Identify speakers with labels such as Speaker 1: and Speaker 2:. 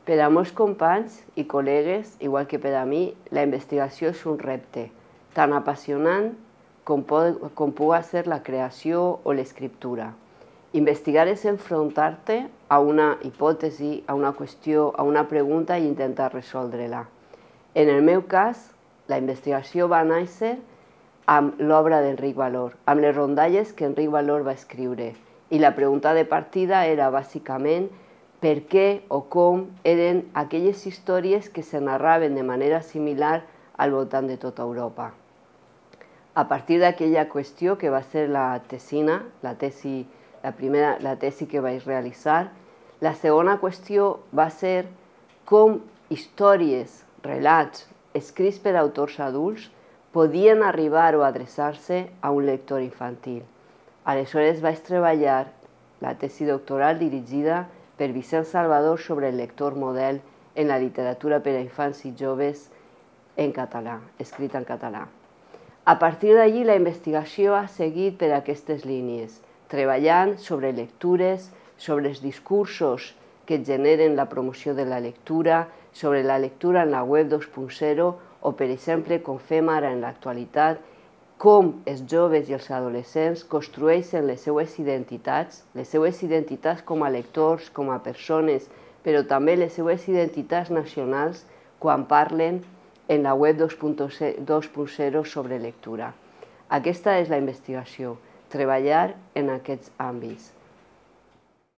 Speaker 1: Per a molts companys i col·legues, igual que per a mi, la investigació és un repte tan apassionant com pugui ser la creació o l'escriptura. Investigar és enfrontar-te a una hipòtesi, a una qüestió, a una pregunta i intentar resoldre-la. En el meu cas, la investigació va néixer amb l'obra d'Enric Valor, amb les rondalles que Enric Valor va escriure. I la pregunta de partida era bàsicament per què o com eren aquelles històries que se narraven de manera similar al voltant de tota Europa. A partir d'aquella qüestió, que va ser la tesina, la tesi que vaig realitzar, la segona qüestió va ser com històries, relats, escrits per autors adults, podien arribar o adreçar-se a un lector infantil. Aleshores vaig treballar la tesi doctoral dirigida per Vicent Salvador sobre el lector model en la literatura per a infants i joves en català, escrita en català. A partir d'allí, la investigació ha seguit per aquestes línies, treballant sobre lectures, sobre els discursos que generen la promoció de la lectura, sobre la lectura en la web 2.0 o, per exemple, com fem ara en l'actualitat, com els joves i els adolescents construeixen les seues identitats com a lectors, com a persones, però també les seues identitats nacionals quan parlen en la web 2.0 sobre lectura. Aquesta és la investigació, treballar en aquests àmbits.